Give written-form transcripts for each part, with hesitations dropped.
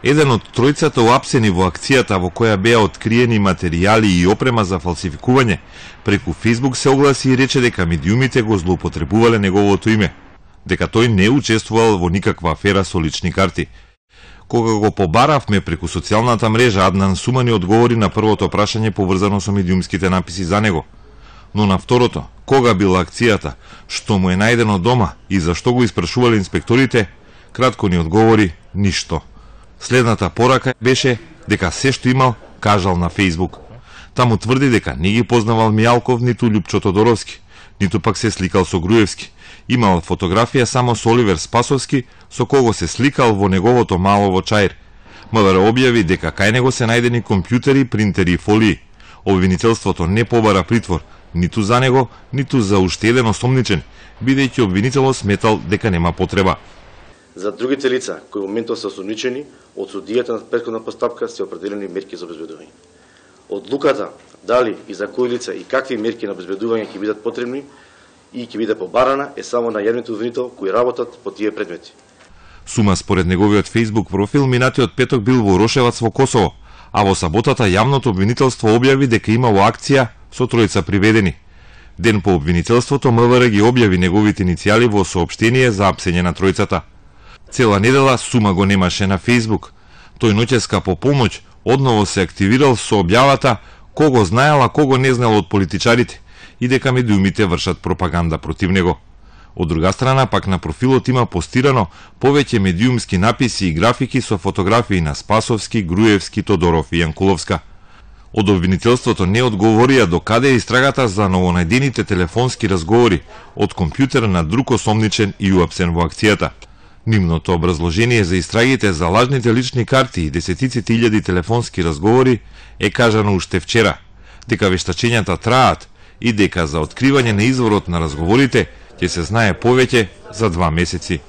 Еден од тројцата уапсени во акцијата во која беа откриени материјали и опрема за фалсификување, преку Facebook се огласи и рече дека медиумите го злоупотребувале неговото име, дека тој не учествувал во никаква афера со лични карти. Кога го побаравме преку социјалната мрежа, Аднан Сумани одговори на првото прашање поврзано со медиумските написи за него. Но на второто, кога била акцијата, што му е најдено дома и зашто го испрашувале инспекторите, кратко ни одговори ништо. Следната порака беше дека се што имал, кажал на Facebook. Таму тврди дека не ги познавал Мијалков ниту Љупчо Тодоровски, ниту пак се сликал со Груевски. Имал фотографија само со Оливер Спасовски, со кого се сликал во неговото мало во Чаир. МВР објави дека кај него се најдени компјутери, принтери и фолии. Обвинителството не побара притвор, ниту за него, ниту за уште еден осомничен, бидејќи обвинителот сметал дека нема потреба. За другите лица, кои во моментот се осомничени, од судијата на претходна постапка се определени мерки за обезбедување. Одлуката дали и за кои лица и какви мерки на обезбедување ќе бидат потребни и ќе биде побарана е само на јавните обвинител кои работат по тие предмети. Сума според неговиот Facebook профил минатиот петок бил во Рошевац во Косово, а во саботата јавното обвинителство објави дека имало акција со тројца приведени. Ден по обвинителството МВР ги објави неговите иницијали во соопштение за апсење на тројцата. Цела недела Сума го немаше на Facebook. Тој ноќеска по помоќ одново се активирал со објавата кого знаел, а кого не знаел од политичарите и дека медиумите вршат пропаганда против него. Од друга страна, пак на профилот има постирано повеќе медиумски написи и графики со фотографии на Спасовски, Груевски, Тодоров и Јанкуловска. Од обвинителството не одговорија до каде е истрагата за новонајдените телефонски разговори од компјутер на друг осомничен и уапсен во акцијата. Нивното образложение за истрагите за лажните лични карти и десетиците илјади телефонски разговори е кажано уште вчера, дека вештачењата траат и дека за откривање на изворот на разговорите ќе се знае повеќе за 2 месеци.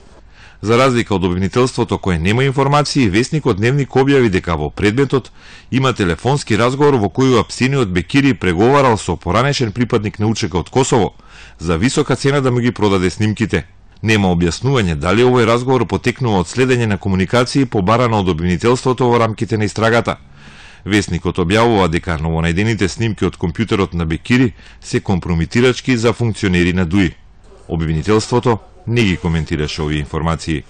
За разлика од обвинителството кое нема информации, весникот Дневник објави дека во предметот има телефонски разговор во кој апсениот Бекири преговарал со поранешен припадник на УЧК од Косово за висока цена да му ги продаде снимките. Нема објаснување дали овој разговор потекнува од следење на комуникации побарано од обвинителството во рамките на истрагата. Весникот објавува дека новонајдените снимки од компјутерот на Бекири се компрометирачки за функционери на ДУИ. Обвинителството не ги коментираше овие информации.